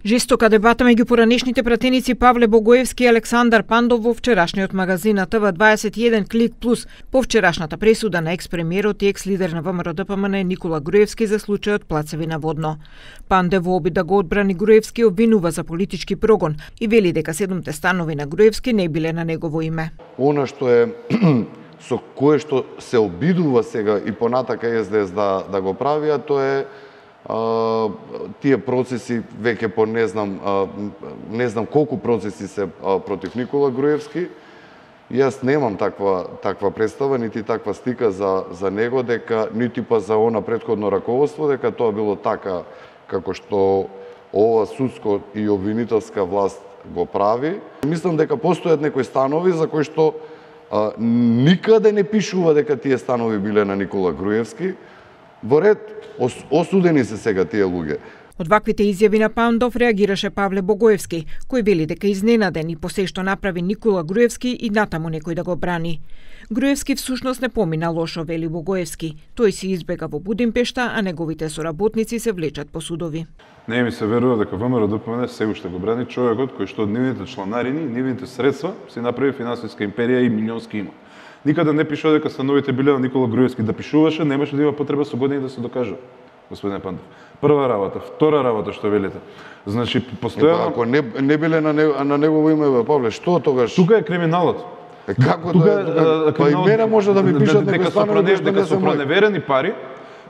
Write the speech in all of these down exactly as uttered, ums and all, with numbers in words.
Жестока дебата меѓу поранешните пратеници Павле Богоевски и Александар Пандов во вчерашниот магазин на Т В дваесет и еден Клик Плюс по вчерашната пресуда на екс-премиерот и екс-лидер на В М Р Д П М Н Никола Груевски за случајот Плацевина Водно. Пандев во обид да го одбрани Груевски обвинува за политички прогон и вели дека седумте станови на Груевски не биле на негово име. Она што е со кое што се обидува сега и понатака С Д С да да го правија, тоа е Uh, тие процеси веќе по не знам uh, не знам колку процеси се uh, против Никола Груевски. Јас немам таква таква представа нити таква стика за за него, дека нити па за она претходно раководство дека тоа било така како што ова судско и обвинителска власт го прави. Мислам дека постојат некои станови за кои што uh, никаде не пишува дека тие станови биле на Никола Груевски. Во ред, осудени се сега тие луѓе. Од ваквите изјави на Пандов реагираше Павле Богоевски, кој вели дека изненаден и по се што направи Никола Груевски и натаму некој да го брани. Груевски всушност не помина лошо, вели Богоевски. Тој си избега во Будимпешта, а неговите соработници се влечат по судови. Не ми се верува дека В М Р Д П М Н се уште го брани човекот кој што од нивните чланарини, нивните средства си направи финансиска империја и милионски имот. Никаде не пишува дека становите биле на Никола Груевски. Да пишуваше, немаше да има потреба со години да се докажува, господине Пандов. Прва работа, втора работа што велите. Значи постојано ако не не биле на него, на негово име, бе, Павле, што тогаш? Тука е криминалот. Е, како тука, тука е, па и мене може да ми пишат дека станови што не се мои. Неверени пари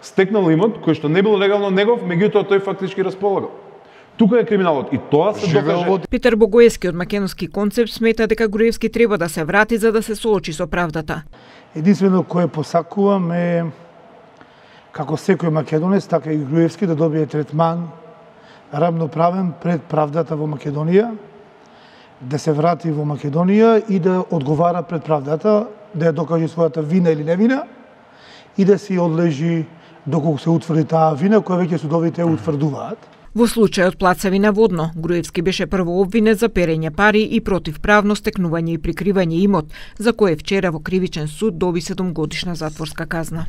стекнал имот кој што не бил легално негов, меѓутоа тој фактички располагал. Тука е криминалот и тоа се докаже. Питер Богоевски од Македонски концепт смета дека Груевски треба да се врати за да се соочи со правдата. Единствено кое посакувам е како секој македонец, така и Груевски да добие третман равноправен пред правдата во Македонија, да се врати во Македонија и да одговара пред правдата, да ја докаже својата вина или невина и да си одлежи доколку се утврди таа вина која веќе судовите утврдуваат. Во случајот Плацевина Водно, Груевски беше прво обвинет за перење пари и противправно стекнување и прикривање имот, за кое вчера во кривичен суд доби седумгодишна затворска казна.